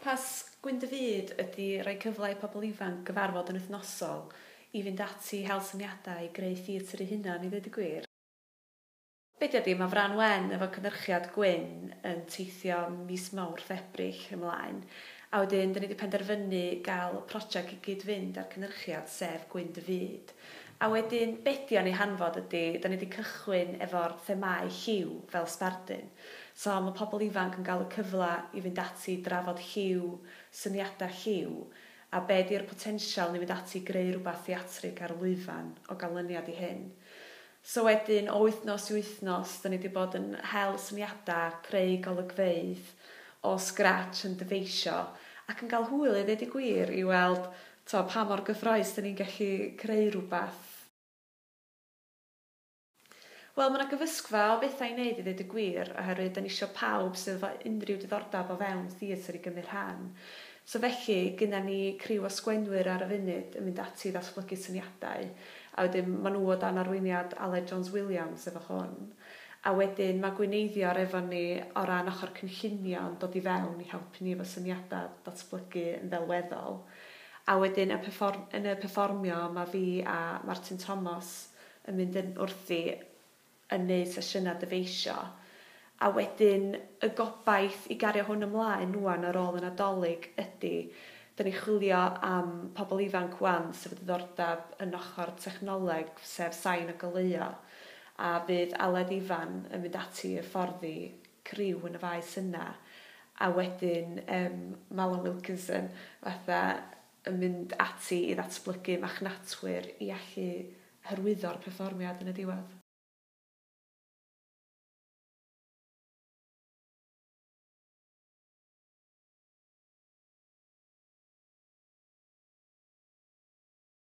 Pwrpas Gwyn dy Fyd ydy rhoi cyfle i pobl ifanc gyfarfod yn wythnosol i fynd ati i hel syniadau i greu theatr eu hunan i ddweud y gwir. Be 'di o 'di, mae Fran Wen efo cynhyrchiad Gwyn yn teithio mis Mawrth, Ebrill ymlaen, a wedyn 'dan ni 'di penderfynu gael prosiect i gyd-fynd â'r cynhyrchiad, sef Gwyn dy Fyd. A wedyn be 'di o'n ei hanfod ydy, 'dan ni 'di cychwyn efo'r themâu lliw fel sbardun. So mae pobl ifanc yn gael y cyfle i fynd ati i drafod lliw, syniadau lliw, a be 'di'r potensial i fynd ati i greu rhywbeth theatrig ar lwyfan o ganlyniad i hyn. So wedyn, o wythnos i wythnos, 'dan ni 'di bod yn hel syniadau, creu golygfeydd o scratch yn dyfeisio, ac yn cael hwyl i ddeud y gwir i weld to, pa mor gyffrous 'dan ni'n gallu creu rhywbeth. Wel, mae yna gyfysgfa o bethau i wneud i ddweud y gwir, oherwydd da ni isio pawb sydd efo unrhyw diddordeb o fewn theatr i gymryd rhan. So felly, gynna ni criw o sgwennwyr ar y funud yn mynd ati i ddatblygu syniadau, a wedyn maen nhw o dan arweiniad Aled Jones Williams efo hwn. A wedyn mae gweinyddio'r efo ni o ran ochr cynllunio yn dod i fewn i helpu ni efo syniadau datblygu yn ddelweddol. A wedyn y perfform yn y perfformio mae fi a Martin Thomas yn mynd yn wrthi yn neud sesiynau dyfeisio. A wedyn y gobaith i gario hwn ymlaen ŵan ar ôl y Nadolig ydy, 'dan ni'n chwilio am pobl ifanc ŵan sydd efo diddordeb yn ochr technoleg, sef sain a goleuo, a fydd Aled Ifan yn mynd ati i hyfforddi criw yn y faes yna, a wedyn Manon Wilkinson fatha yn mynd ati i ddatblygu machnatwyr i allu hyrwyddo'r perfformiad yn y diwedd.